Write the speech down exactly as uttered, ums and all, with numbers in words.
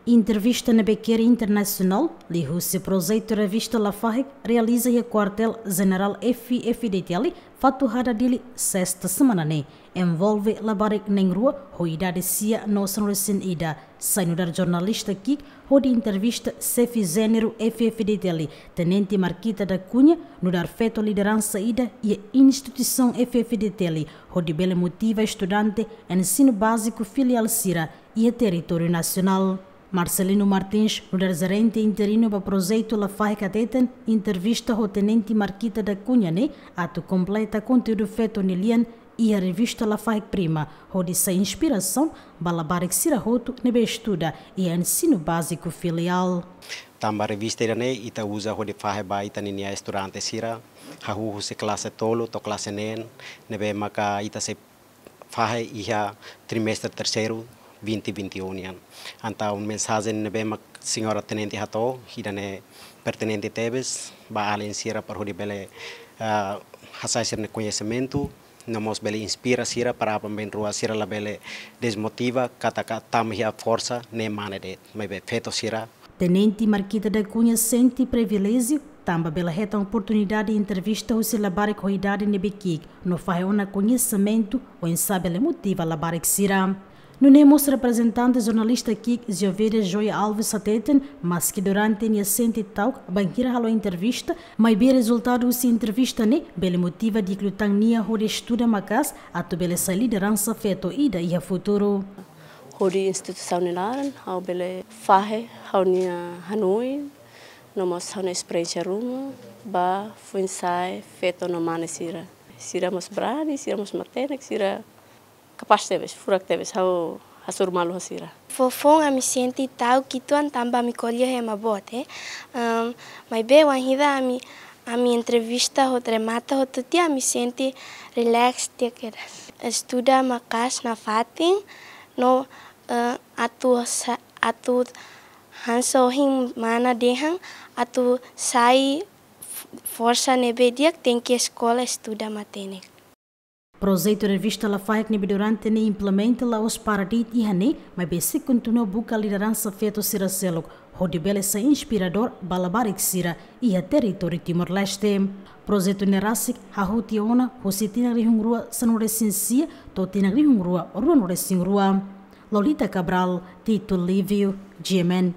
Entrevista ne'ebé keri internasionál, liuhusi projetu Revista Lafaek, realiza iha Kuartél Jenerál F-FDTL, Fatuhada, Dili, sesta semana ne'e, envolve labarik na'in-rua ho idade sia no sanulu-resin-ida, sai nu'udar jornalista ki'ik hodi entrevista xefe jéneru F-FDTL, Tenente Marquita da Cunha, nu'udar feto lideransa ida iha instituisaun F-FDTL, hodi bele motiva estudante ensinu báziku filiál sira iha territóriu nasionál. Marcelino Martins, nu'udar jerente interinu ba projetu Lafaek, hateten, entrevista ho Tenente Marquita da Cunha ne'e atu kompleta konteúdu feto nia lian iha Revista Lafaek Prima, hodi sai inspirasaun ba labarik sira hotu ne'ebé estuda iha ensinu báziku filiál. Tanba revista ida-ne'e ita uza hodi fahe ba ita-nia estudante sira, hahú husi klase tolu to'o klase neen, ne'ebé maka ita sei fahe iha trimestre terseiru vinte vinte e um nian. Entaun mensajen ne'ebé mak señora tenente hato'o, ida-ne'e pertinente tebes ba alin sira para hodi bele, ah, hasai sira-nia koñesimentu, no mós bele inspira sira para aban-bainrua sira labele desmotiva, katak tama iha forsa ne'e mane de'it, maibé feto sira. Tenente Marquita da Cunha sente priviléjiu tanba bele hetan oportunidade entrevista husi labarik ho idade ne'ebé ki'ik, no fahe ona koñesimentu oinsá bele motiva labarik sira. Nune'e mós reprezentante jornalista ki'ik Giovida Joy Alves hateten, maski durante nia sente ta'uk bainhira halo entrevista, maibé rezultadu husi entrevista ne'e bele motiva di'ak liután nia hodi estuda maka'as atu bele sai lideransa feto ida iha futuru. Hodi instituisaun nia laran, ha'u bele fahe ha'u-nia hanoin, no mós ha'u-nia esperiénsia ruma ba foin-sa'e feto no mane sira. Sira mós brani, sira mós matenek, sira kapás tebes, furak tebes, ha'u hasoru malu ho sira. Foufoun ami sente ta'uk uitoan tanba ami ko'alia ho ema boot, eh. Em, maibé wainhira ami, ami entrevista hotu, remata hotu tiha, ami sente relax tiha kedas. Estuda maka'as nafatin, no, eh, atu sa-, atu hanesan ohin mana dehan, atu sai f-, forsa ne'ebé di'ak, tenke eskola, estuda matenek. Projetu Revista Lafaek ne'ebé durante ne'e implementa la'ós para de'it iha ne'e, maibé sei kontinua buka lideransa feto sira seluk, hodi bele sai inspiradór ba labarik sira iha territóriu Timor-Leste. Projetu ne'e rasik hahú tiha ona husi tinan rihun rua sanulu-resin-sia to'o tinan rihun rua ruanulu-resin-rua. Lolita Cabral, Tito Livio, G M N.